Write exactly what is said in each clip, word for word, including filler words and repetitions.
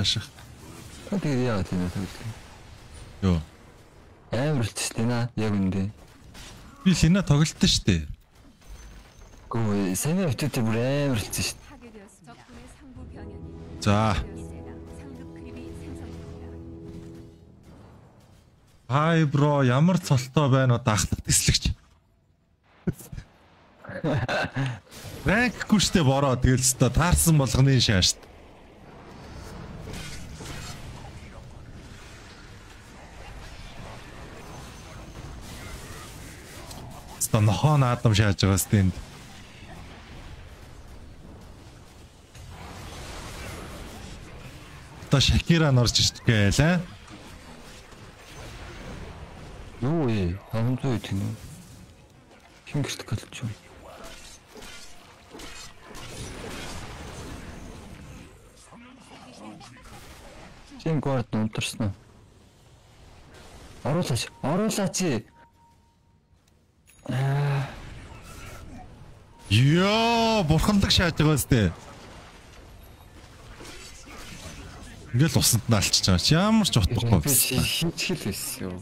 Ааших. Тэгээ яа тийм үү? Йоо. Амар л ч тийм аа яг үндэ. Би Лина тоглолтсон шүү дээ. Гөө саний өтөд бүр амар л ч шүү. За. Хай бро ямар цолтой байна уу дахтах тэслэгч. Ранкгүй штэ бороо тэгэл ч таарсан болгоны шаашд. Ста нохон аадам шааж байгаа стэнд. Та Шакира норж ичгээл аа. Юу ээ, хамзуу тийм үү? Хингэрт галч юм. Чин горд унтарсан. Оруулаач, оруулаач. Аа. Ёо, бурханлаг шааж байгаа сте. Ингээл усанд нь алчиж байгаа ч ямар ч утгагүй байсан. Хинчгэл байсан юу?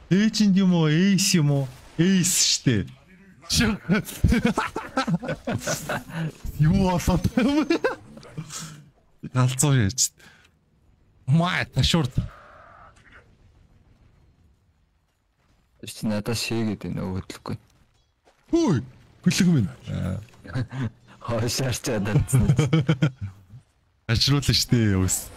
Эйчэнд юм уу, эйс юм уу? Эйс штэ. Юу болоод юм бэ? Галзуу яаж. Маа ташурд. Чи надад шээгээд байна өөдлөхгүй. Хөөе, гүлэг минь. Хойшаарч чадсан. Ажруулна штэ өөс.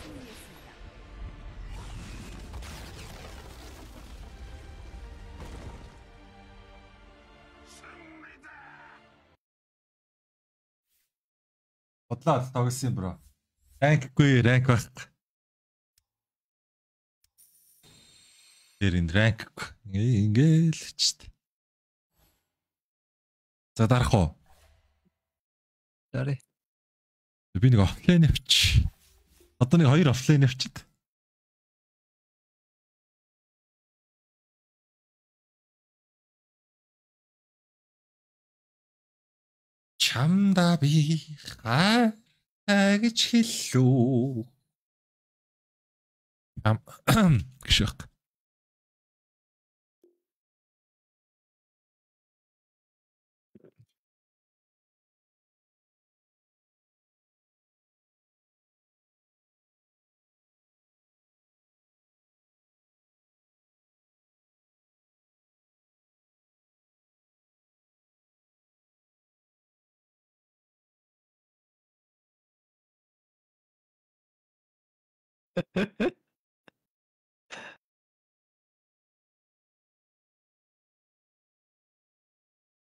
Бодлоо тоглосон бро. Ранкгүй, ранк байх. Тэр энэ ранк ингээл ч тэ. За дарах уу? Дарэ. Би нэг офлайн авч. Одоо нэг хоёр офлайн авчид. Чамда би хаа гэж хэллүү. Ам гшиг.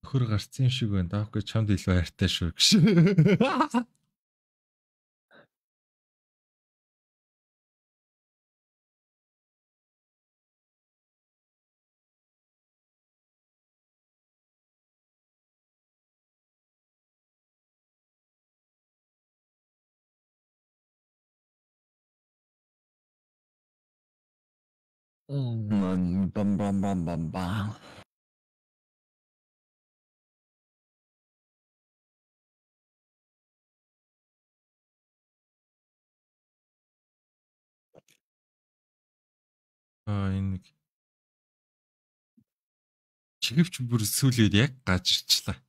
Хөр гарцсан шиг байна. Даахгүй чамд илүү хайртай шүү гэж. Бам бам бам бам бам бам. Аа энэ чигэвч бүр сүлээд яг гажирчлаа.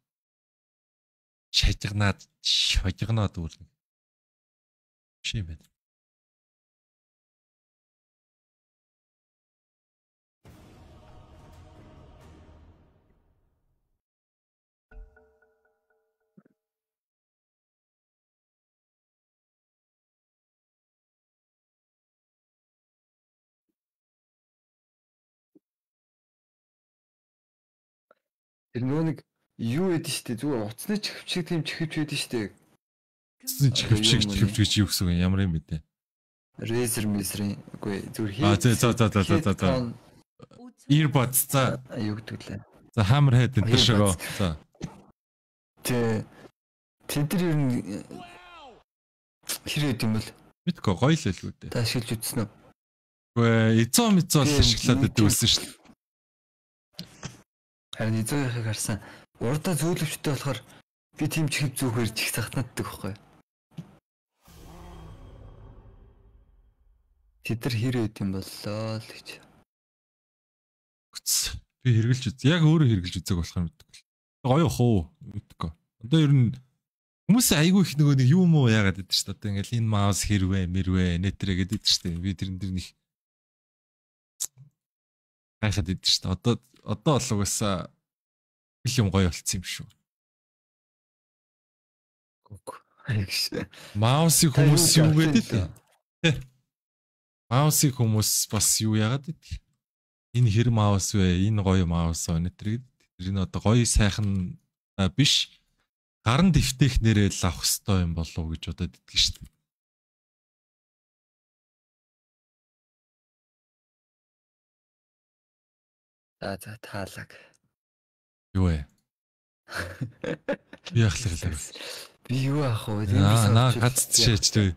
Шажигнаад шожигноод үл. Биш юм байна. Тэр нөгөө нэг юу яд штэ зүгээр уцны чихвчиг тийм чихвч байдаг штэ. Уцны чихвчиг чихвч гэж юу гэсэн юм ямар юм бэ те? Razer Razer үгүй зүгээр хий. А за за за за за за. Earbuds за юу гэдэг лээ. За Hammerhead энэ төр шогоо. За. Тэ тэд нар ер нь хэрэг юм бол мэдгүй гоё л л үү дээ. та ашиглаж үзсэн үү? Үгүй эзоо мизоо ашиглаад байдаг байсан шүү дээ. Харин эзөөхийг харсан. Урдаа зөөлөвчтэй болохоор Би тийм чихэв зүгхээр чих захнаддаг байхгүй. Тэд нар хэр өд юм боллоо л гэж. Үц. Би хэрглэж үз. Яг өөрөө хэрглэж үзэг болох юм мэдгүй. Гоё хоо мэдгүй. Одоо ер нь хүмүүс айгүй их нөгөө нэг юм уу яагаад гэдэг чинь одоо ингээл энэ маус хэрвээ мэрвээ нэтрэ гэдэг чинь би тэрэн дээр нэг гайхаад байдаг шүү дээ. Одоо одоо бол угаасаа их юм гоё болцсон юм шүү. Гүг. Айгш. Маусыг хүмүүс юу гэдэг вэ? Маусыг хүмүүс бас юу яагаад гэдэг? Энэ хэр маус вэ? Энэ гоё маус вэ? Нэтрэг. Тэр энэ одоо гоё сайхан биш. Гаран дэвтэх нэрээ л авах хэрэгтэй юм болов уу гэж бодоод идэх шүү дээ. За за таалаг. Юу вэ? Би ахлаа. Би юу ах вэ? Аа, наа гац шээч дээ.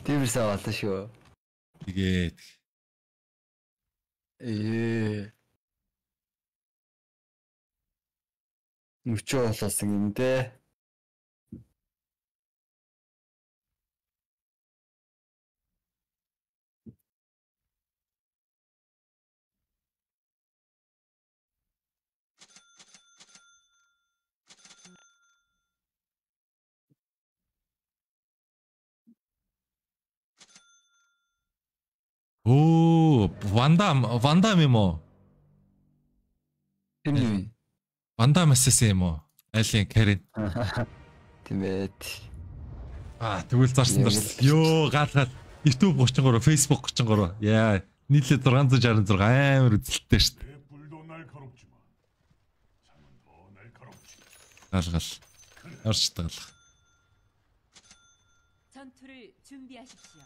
Тиймэрсээ болоо шүү. Тэгээд ээ. Нүчөө болоосон юм дээ. оо, Вандам, Вандам юм уу? Тийм үү? Вандам эсэс юм уу? Айлын Карин. Тэмээд. Аа, тэгвэл зарсан зарсан. Йоо, гал гал. YouTube thirty three, Facebook thirty three. Яа, нийлээ six six six амар үзэлттэй шүү дээ. Гал гал. Орч тагал. 전투를 준비하십시오.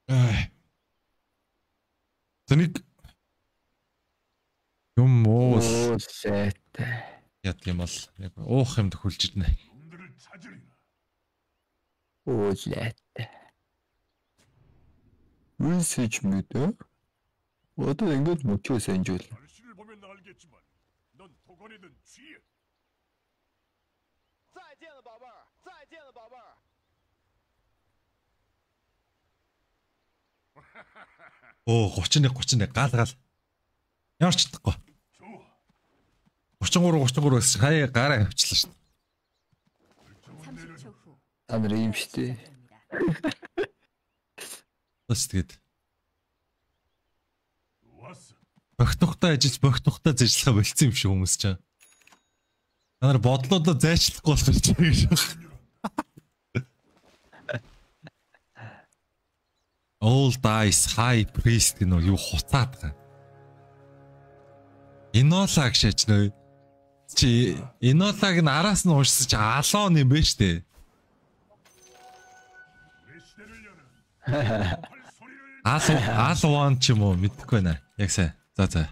Ай. Тэнийг юм уу? Оо shit. Яд юм бол яг уух юм төхөлж ирнэ. Оо shit. Үсэж мэдээ. Одоо ингэж мөчөө санжуул. 결실을 보면 알겠지만 넌 도건이든 쥐. 再见了，宝贝儿，再见了，宝贝儿。 Оо, thirty-one thirty-one гал гал. Ямар ч чадахгүй. thirty three thirty three гэсэн хаяа гараа авчлаа шүү дээ. 삼십 초 후. Та нар юм штэ. Бас тэгээд 왔어. богтухтай ажиллаж богтухтай зэжлэхэ болцсон юм шиг хүмүүс ч. Та нар бодлоодоо зайчлахгүй болох гэж байна. All dice high priest гэнэ юу хуцаад байгаа. Энола гэж нөө чи энолаг нь араас нь уушсаж алон юм бэ штэ. 내 시대를 여는 Ал алван ч юм уу мэдэхгүй байна. Яг сайн. За за.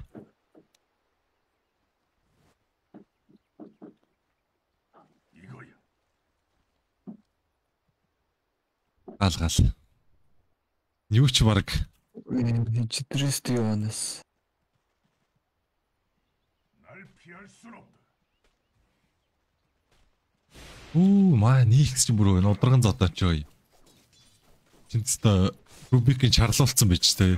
이거야. Гал гал. Юу ч баг Читрээс яванас. 날 피할 순 없다. Үу маа нийгс ч бүр нудраган зодооч ой. Тэнцтэй Рубикийн чарлуулсан байж тээ.